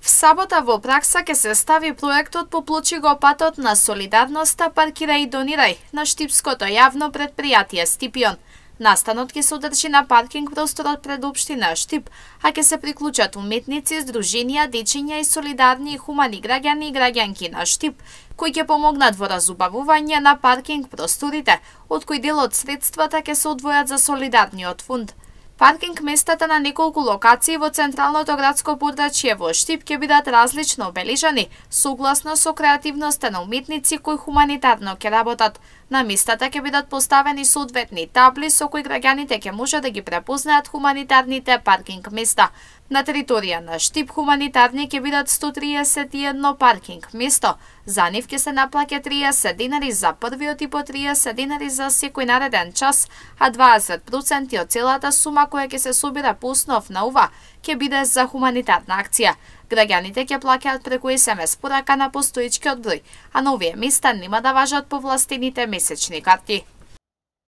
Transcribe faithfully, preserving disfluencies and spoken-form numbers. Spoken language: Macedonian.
В сабота во пракса ќе се стави проектот Поплучи го патот на солидарноста, паркирај и донирај на штипското јавно претпријатие Стипион. Настанот ќе се одржи на паркинг просторот пред општина Штип, а ќе се приклучат уметници, здруженија, дечиња и солидарни и хумани граѓани и граѓанки на Штип, кои ќе помогнат во разубавување на паркинг просторите, од кои дел од средствата ќе се одвојат за солидарниот фонд. Паркинг местата на неколку локации во централното градско подрачје во Штип ќе бидат различно обележани, согласно со креативноста на уметници кои хуманитарно ќе работат. На местата ќе бидат поставени соодветни табли со кои граѓаните ќе може да ги препознаат хуманитарните паркинг места. На територија на Штип хуманитарни ќе бидат сто триесет и едно паркинг место. За нив ќе се наплаќа триесет динари за првиот и по триесет динари за секој нареден час, а дваесет проценти од целата сума која ќе се собира по основ на ова ќе биде за хуманитарна акција. Граѓаните ќе плаќаат преку ес ем ес порака на постоечкиот број, а на овие места нема да важат повластените месечни карти.